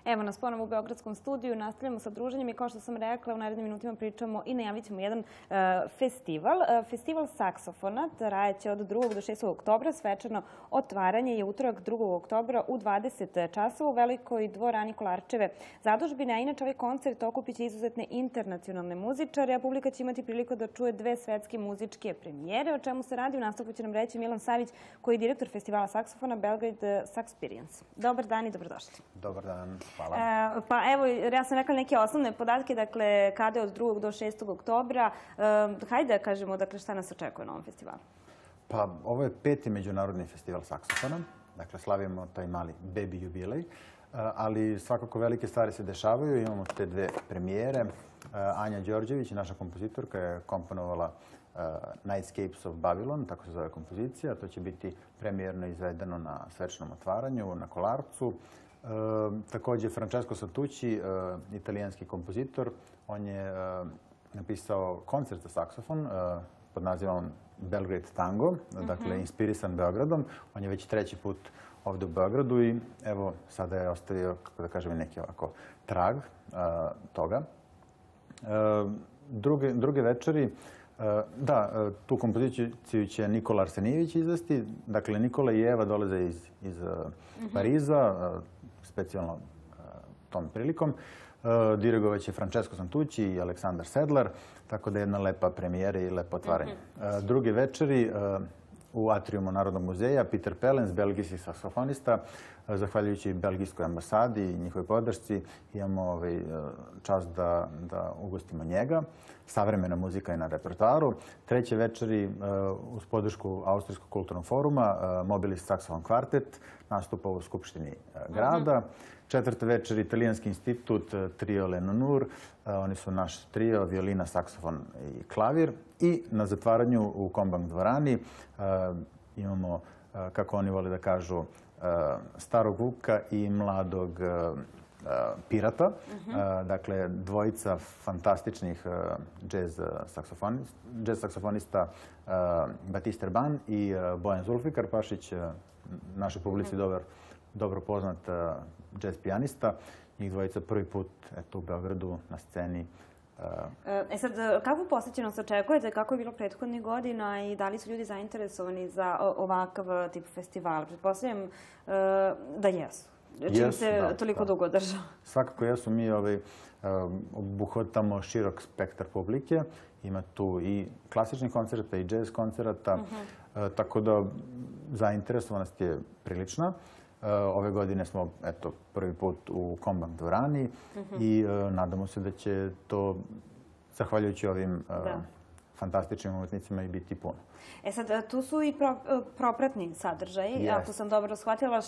Evo nas ponovo u Beogradskom studiju, nastavljamo sa druženjem i kao što sam rekla, u narednim minutima pričamo i najavit ćemo jedan festival. Festival saksofona trajeće od 2. do 6. oktobra. Svečano otvaranje je utorak 2. oktobra u 20 časova u Velikoj dvorani Kolarčeve zadužbine. A inače ovaj koncert okupiće izuzetne internacionalne muzičare, a publika će imati priliku da čuje dve svetske muzičke premijere. O čemu se radi, u nastavku će nam reći Milan Savić, koji je direktor festivala saksofona Belgrade Saxperience. Dobar dan i dobrodošli. Dobar dan, hvala. Pa evo, ja sam rekla neke osnovne podatke, dakle, kada je od 2. do 6. oktobra. Hajde da kažemo, dakle, šta nas očekuje na ovom festivalu? Pa, ovo je 5. međunarodni festival saksofona. Dakle, slavimo taj mali baby jubilej. Ali svakako velike stvari se dešavaju. Imamo te dve premijere. Anja Đorđević, naša kompozitorka, je komponovala Nightscapes of Babylon, tako se zove kompozicija. To će biti premijerno izvedeno na svečanom otvaranju, na Kolarcu. Također Francesco Santucci, italijanski kompozitor, on je napisao koncert za saksofon pod nazivom Belgrade Tango, dakle inspirisan Beogradom. On je već 3. put ovdje u Beogradu i evo sada je ostavio, kako da kažem, neki ovako trag toga. Druge večeri, da, tu kompoziciju će Nikola Arsenijević izvesti. Dakle, Nikola i Eva dolaze iz Pariza, specijalno tom prilikom. Dirigovat će Francesco Santucci i Aleksandar Sedlar, tako da je jedna lepa premijera i lepo otvaranje. Druge večeri u atriumu Narodnog muzeja Peter Pelens, belgijski saksofonista. Zahvaljujući belgijskoj ambasadi i njihovoj podršci imamo čast da ugostimo njega. Savremena muzika je na repertoaru. Treće večeri uz podršku Austrijskog kulturnog foruma Mobilis Saxofon kvartet nastupa u Skupštini grada. Četvrte večer Italijanski institut Trio Lenonur. Oni su naš trio, violina, saksofon i klavir. I na zatvaranju u Kombank dvorani imamo, kako oni vole da kažu, starog Vuka i mladog pirata. Dakle, dvojica fantastičnih jazz saksofonista Batister Ban i Bojan Zulfikar Pašić, našoj publici dobro poznat jazz pijanista. Njih dvojica prvi put u Beogradu na sceni. Sad, kakvu posjećenost očekujete, kako je bilo prethodnih godina i da li su ljudi zainteresovani za ovakav tip festivala? Pretpostavljam da jesu. Čim se toliko dugo drža. Svakako jesu. Mi obuhvatamo širok spektar publike. Ima tu i klasičnih koncerta i jazz koncerta. Tako da zainteresovanost je prilična. Ove godine smo prvi put u Kombank dvorani i nadamo se da će to, zahvaljujući ovim fantastičnim umetnicima, i biti puno. Sad, tu su i propratni sadržaji, ako sam dobro shvatila.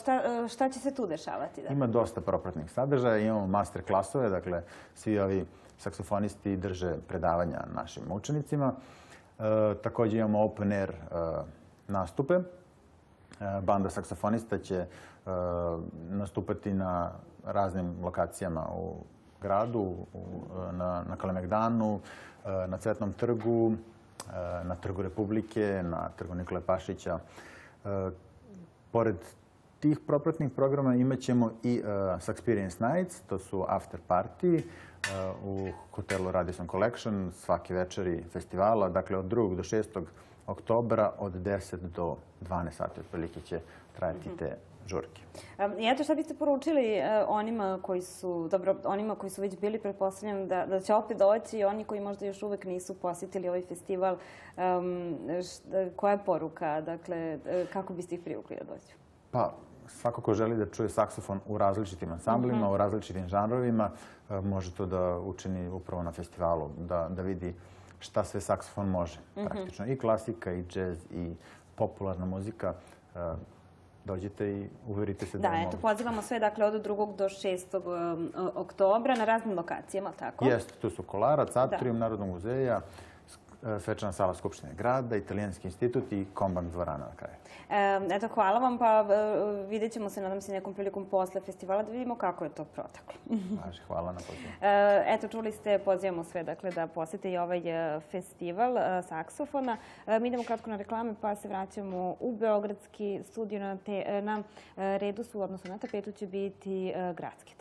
Šta će se tu dešavati? Ima dosta propratnih sadržaja. Imamo master klasove, dakle svi ovi saksofonisti drže predavanja našim učenicima. Također imamo open air nastupe. Banda saksofonista će nastupati na raznim lokacijama u gradu, na Kalemegdanu, na Cvetnom trgu, na Trgu Republike, na Trgu Nikole Pašića. Pored tih propratnih programa imat ćemo i Saxperience Nights, to su after party u hotelu Radisson Collection svake večeri festivala, dakle od 2. do 6. oktobra od 10 do 12 sati otprilike će trajati te žurke. I eto, šta biste poručili onima koji su već bili, pretpostavljam da će opet doći, i oni koji možda još uvek nisu posjetili ovaj festival, koja je poruka, dakle, kako biste ih privukli da dođu? Pa, svako ko želi da čuje saksofon u različitim ansamblima, u različitim žanrovima, može to da učini upravo na festivalu, da vidi šta sve saksofon može, praktično. I klasika, i džez, i popularna muzika. Dođite i uverite se da je moguće. Da, eto, pozivamo sve, dakle, od 2. do 6. oktobra na raznim lokacijama, tako? Jeste, tu su Kolarac, atrium Narodnog muzeja, svečana sala Skupštine grada, Italijanski institut i Kombank dvorana na kraju. Eto, hvala vam, pa vidjet ćemo se, nadam se, nekom prilikom posle festivala da vidimo kako je to proteklo. Hvala na pozivu. Eto, čuli ste, pozivamo sve, dakle, da posjete i ovaj festival saksofona. Mi idemo kratko na reklame, pa se vraćamo u Beogradski studio. Na redu su, odnosno na tapetu će biti gradski